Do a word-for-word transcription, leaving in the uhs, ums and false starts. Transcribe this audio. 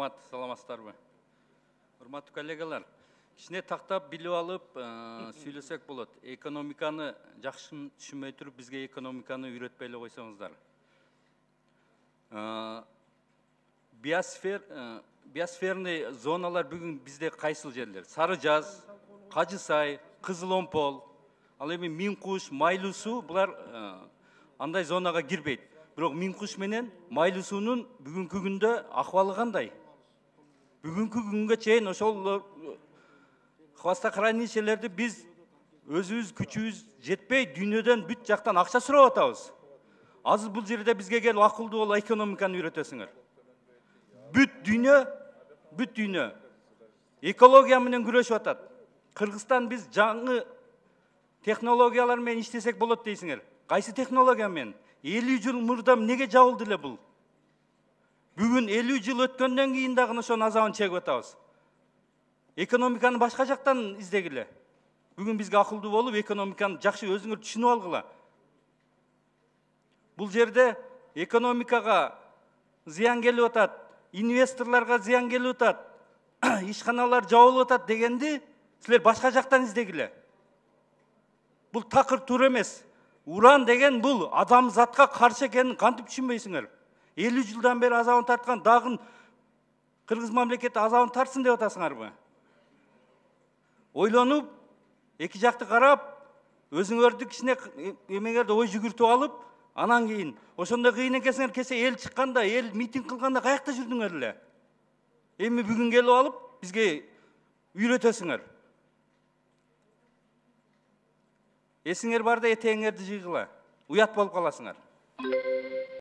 Рахмат, саламатсыздарбы? Урматтуу коллегалар, кичине тактап билип алып, сүйлөсөк болот. Экономиканы жакшы түшүнбөй туруп, бизге экономиканы үйрөтпөй эле койсоңуздар. Биосфер, биосферный зоналар бүгүн бизде кайсыл жерлер? Сары Жаз, Кажы Сай, Кызыл Омпол, ал эми Миң Куш, Майлуу суу булар андай зонага кирбейт. Бирок Миң Куш менен Майлуу суунун бүгүнкү күндө акыбалы кандай? Бүгүнкү күнгө чейин ошол хвостохранилищелерди биз өзүбүз күчүбүз жетпей, дүйнөдөн бүт жактан акча сурап атабыз. Азыр бул жерде бизге келип акылдуу болуп экономиканы үйрөтөсүңөр. Бүт дүйнө, бүт дүйнө экология менен күрөшүп атат. Кыргызстан биз жаңы технологиялар менен иштесек болот дейсиңер. Кайсы технология менен? элүү жыл мурда эмнеге жабылды эле бул? Бүгүн элүү жыл өткөндөн кийин дагы ошонун азабын чегип атабыз. Экономиканы башка жактан издегиле. Бүгүн бизге акылдуу болуп, экономиканы жакшы өзүңөр түшүнүп алгыла. Бул жерде экономикага зыян келип атат, инвесторлорго зыян келип атат, ишканалар жабылып атат дегенди силер башка жактан издегиле. Бул такыр туура эмес. Уран деген бул адамзатка каршы экенин кантип түшүнбөйсүңөр? элүү жылдан бери азабын тарткан дагы кыргыз мамлекети азабын тартсын деп атасыңарбы? Ойлонуп, эки жакты карап, өзүңөрдү кичине эмеңерде ой жүгүртүп алып, анан кийин ошондой кыйын экенсиңер, кесе эл чыкканда, эл митинг кылганда каякта жүрдүңөр эле? Эми бүгүн келип алып бизге үйрөтөсүңөр. Эсиңер барда этеңерди жыйгыла. Уят болуп каласыңар.